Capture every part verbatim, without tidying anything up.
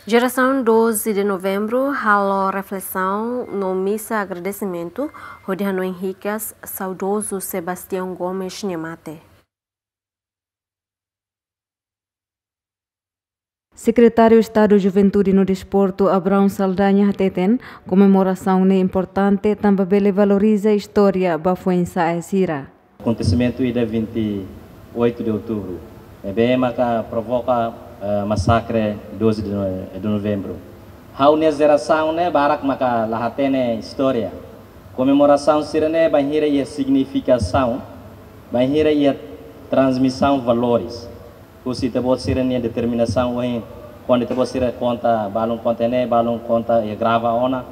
Jerasaun doze de Novembru halo reflesaun no misa agradesimentu hodi hanoin hikas saudozu Sebastião Gomes nia mate. Sekretáriu Estadu Juventude no Desportu, Abraão Saldanha, hateten komemorasaun ne'e importante tanba bele valoriza istória ba foin-sa'e sira. Akontesimentu ida vinte e oito de outubro ne'ebé maka provoka, eh, masakre doze de no-, de Novembro. Ha'u-nia jerasaun ne'e barak maka la hatene istória. Komemorasaun sira-ne'e bainhira iha signifikasaun, bainhira iha transmisaun valores. Husi ita-boot sira-nia determinasaun ohin, kuandu ita-boot sira konta, balun konta ne'e, balun konta iha grava ona.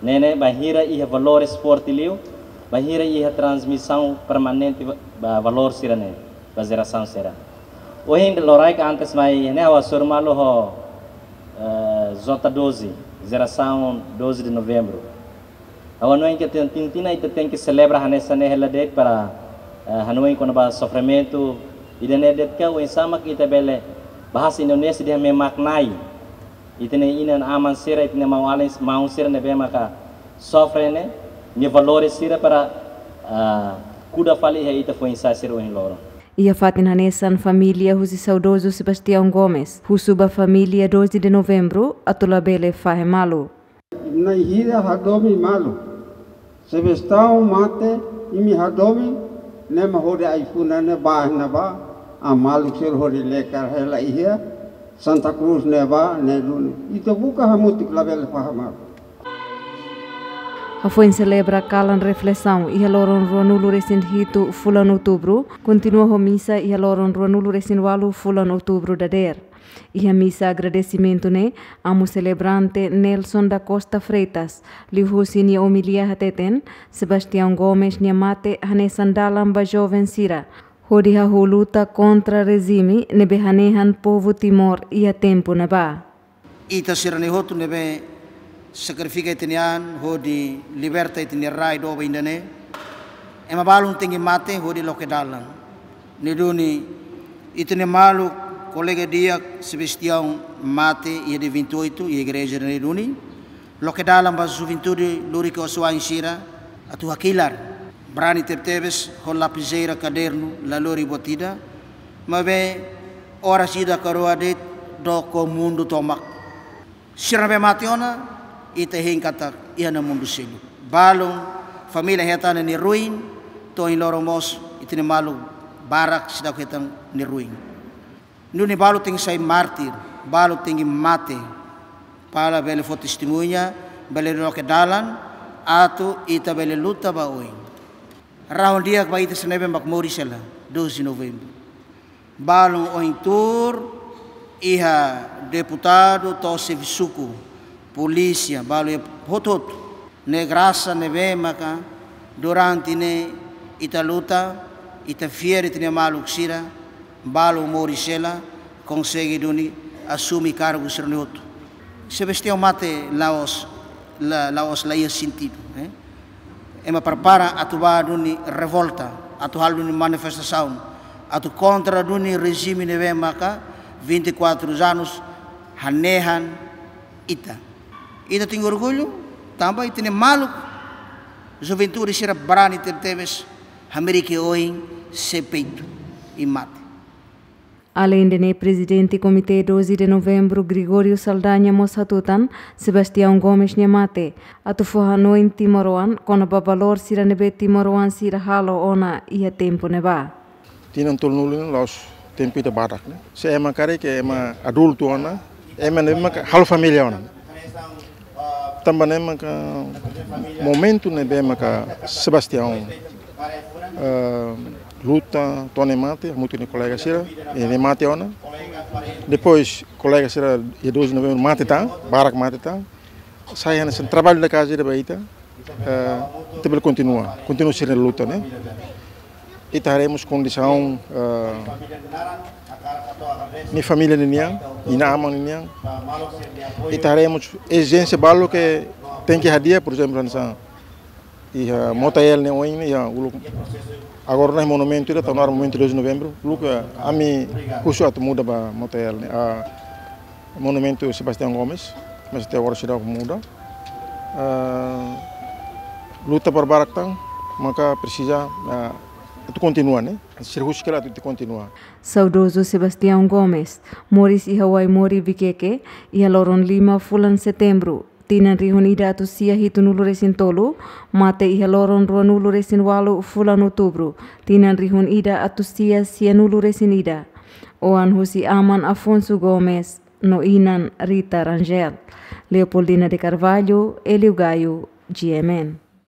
Ne'e ne'e bainhira iha valores forte liu, bainhira iha transmisaun permanente va-, ba valór sira-ne'e, ba jerasaun sira. Ohin loraik antes mai ne'e ha'u hasoru malu ho, eh, J doze, jerasaun doze de Novembro. Ha'u hanoin katak tin-, tin-, tinan ita tenke selebra hanesan ne'e hela de'it para, eh, hanoin kona-ba sofrimentu ida-ne'e de'it ka oinsá mak ita bele, bahasa Indonesia dehan memaknai ita-nia inan-aman sira, ita-nia maun-alin, maun sira ne'ebé maka sofre ne'e, nia valores sira para, ah, kuda fali iha ita foin-sa'e sira ohin loron. Iha fatin hanesan família husi saudozu Sebastião Gomes husu ba família doze de Novembru atu labele fahe malu. Nai hira hadomi malu. Sebastião mate, imi hadomi, ne'e mak hodi ai-funan ne'e ba ne'ebá, a maluk sira hodi lekar hela iha Santa Cruz ne'ebá, ne'e duni. Ita buka hamutuk labele fahe malu. Hafoin selebra kalan reflesaun iha loron ruanulu-resin-hitu fulan Outubru, kontinua ho misa iha loron ruanulu-resin-ualu fulan Outubru dadeer. Iha misa agradesimentu ne'e, amu selebrante Nelson da Costa Freitas, liuhusi nia omilia hateten, Sebastião Gomes nia mate hanesan dalan ba joven sira hodi hahú luta kontra rejime ne'ebé hanehan povu Timor iha tempu ne'ebá. Ita sira-ne'e hotu ne'ebé sakrifika ita-nia an hodi liberta ita-nia rai doben ida-ne'e, ema balun tenke mate hodi loke dalan. Ne'e duni ita-nia maluk, kolega di'ak Sebastião mate iha dia vinte e oito iha igreja ne'e duni. Loke dalan ba juventude lori ke osuan sira atu hakilar. Brani tebetebes ho lapizeira kadernu la lori buat ida. Maibé oras ida ka rua de'it dook ho mundu tomak. Sira ne'ebé mate ona, ita hein katak iha ona mundu seluk. Balun família hetan nia ruin, to'o ohin loron mós ita-nia maluk barak seidauk hetan nia ruin. Nune'e balu tenke sai mártir, balu tenke mate. Para bele fó testemuña, bele loke dalan, atu ita bele luta ba oin. Rahun di'ak ba ita sira ne'ebé mak moris hela, doze de Novembro. Balun ohin tuur iha deputadu to'o xefe suku, polísia, balu iha hotu-hotu. Ne'e grasa ne'ebé maka durante ne'e ita luta, ita fiar ita-nia maluk sira, balu moris hela, konsege duni asume kargu sira-ne'e hotu. Sebastião mate la'ós, la, la'ós la iha sentidu, eh? Ema prepara atu bá duni revolta, atu halo duni manifestasaun, atu kontra duni rejime ne'ebé maka vinte e quatro anos hanehan ita. Ita tenke orgullu, tanba ita-nia maluk, juventude sira brani tebetebes, hamerek oin, sei peitu, i mate. Aleinde ne'e, Prezidente Komité doze de Novembro, Gregório Saldanha, mós hatutan Sebastião Gomes nia mate atu fó hanoin timoroan kona-ba valór sira ne'ebé timoroan sira halo ona iha tempu ne'ebá. Tinan tolunulu ne'e la'ós tempu ida badak, ne'e. Se ema karik ema adultu ona, ema ne'e maka halo família ona. Tanba ne'e maka momentu ne'ebé maka Sebastião, eh, luta to'o nia mate, hamutuk ho nia kolega sira, i nia mate ona. Depois, kolega sira, dia doze de Novembro, mate tan, barak mate tan. Sai hanesan trabalho da casa ida ba ita, eh, ita bele kontinua, kontinua sira-nia luta, ne'e. Ita haree mós kondisaun, eh, nia família ninian, inan-aman ninian. Ita haree mós ezijénsia balu ke tenke hadi'a, por ezemplu, hanesan iha Motael ne'e oin, iha uluk. Agora ne'e monumentu ida, tau nu'udar monumentu doze de Novembro, uluk, eh, ami husu atu muda ba Motael ne'e. Ah, Monumentu Sebastião Gomes, mas até agora seidauk muda. Ah, luta para barak tan, maka presiza, ah, atu kontinua, ne'e? Sira husik hela atu kontinua. Saudozu Sebastião Gomes moris iha Waimori, Viqueque, iha loron lima fulan Setembru, tinan rihun ida atus sia hitunulu resin tolu, mate iha loron ruanulu resin walu fulan Outubru, tinan rihun ida atus sia sianulu resin ida. Oan husi aman Afonso Gomes no inan Rita Rangel. Leopoldina de Carvalho, Hélio Gaio, G M N.